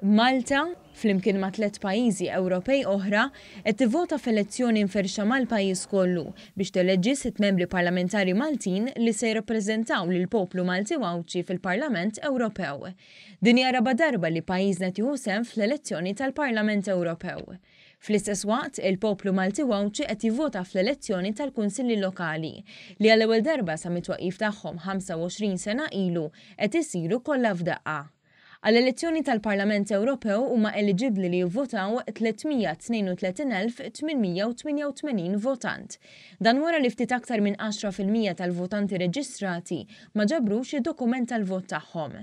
Malta, flimkien ma' tlett pajjiżi Ewropej oħra, qed tivvota f'elezzjoni mferrxa mal-pajjiż kollu biex teleġġi sitt membri parlamentari Maltin li se jirrappreżentaw lill-poplu Malti u Għawdxi fil-Parlament Ewropew. Din hija r-raba' darba li pajjiżna qed jieħu sehem fl-elezzjoni tal-Parlament Ewropew. Fl-istess waqt, il-poplu Malti u Għawdxi qed jivvota fl-elezzjoni tal-Kunsilli Lokali, li għall-ewwel darba sa mit-twaqqif tagħhom 25 sena ilu qed isiru kollha f'daqqa. Għall-elezzjoni tal-Parlament Ewropew huma eliġibbli li jivvotaw 332,888 votant. Dan wara li ftit aktar minn 10% tal-votanti reġistrati ma ġabrux id-dokument tal-vot tagħhom.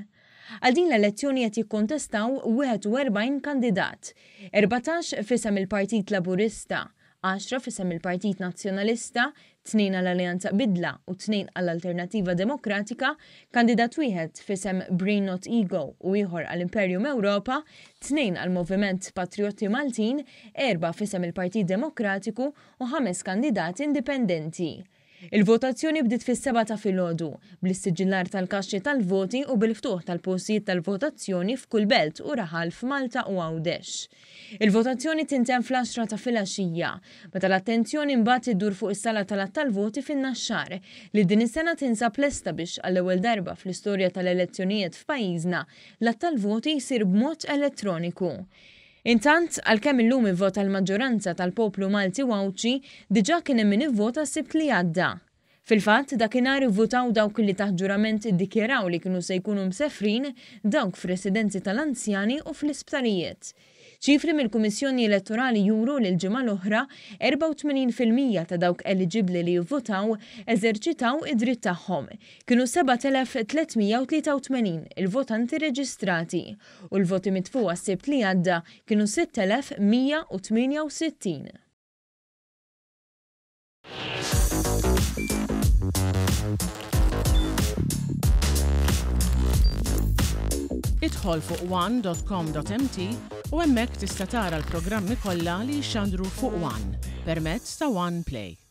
Għal din l-elezzjoni qed jikkontestaw 41 kandidat, 14 f'isem il-Partit Laburista, għaxra f'isem il-Partit Nazzjonalista, tnejn għal Alleanza Bidla u tnejn għal Alternattiva Demokratika, kandidat wieħed f'isem Brain Not Ego u ieħor għal Imperium Europa, tnejn għal Moviment Patrijotti Maltin, erba' f'isem il-Partit Demokratiku u ħames kandidati indipendenti. Il-votazzjoni bdiet fis-sebgħa ta' filgħodu, bl-issiġillar tal-kaxxi tal-voti u bil-ftuħ tal-postijiet tal-votazzjoni f'kull belt u raħal f'Malta u Għawdex. Il-votazzjoni tintemm fl-għaxra ta' filgħaxija, meta l-attenzjoni mbagħad iddur fuq is-sala tal-għadd tal-voti fin-Naxxar, li din is-sena tinsab lesta biex għall-ewwel darba fl-istorja tal-elezzjonijiet f'pajjiżna, l-għadd tal-voti jsir b'mod elettroniku. Intant, għalkemm illum ivvota l-maġġoranza tal-poplu Malti u Għawdxi, diġà kien hemm min ivvota s-Sibt li għadda. Fil-fatt, dakinhar ivvutaw dawk li taħt ġurament iddikjaraw li kienu se jkunu msefrin, dawk f'residenzi tal-anzjani u fl-isptarijiet. Ċifri mill-Kummissjoni Elettorali juru li l-ġimgħa l-oħra, 84% ta' dawk eliġibbli li jivvutaw eżerċitaw id-dritt tagħhom. Kienu 7,383 il-votanti reġistrati. U l-voti mitfugħa s-Sibt li għadda kienu 6,168. Idħol fuq one.com.mt u hemmhekk tista' tara l-programmi kollha li jixxandru fuq One permezz ta' One Play.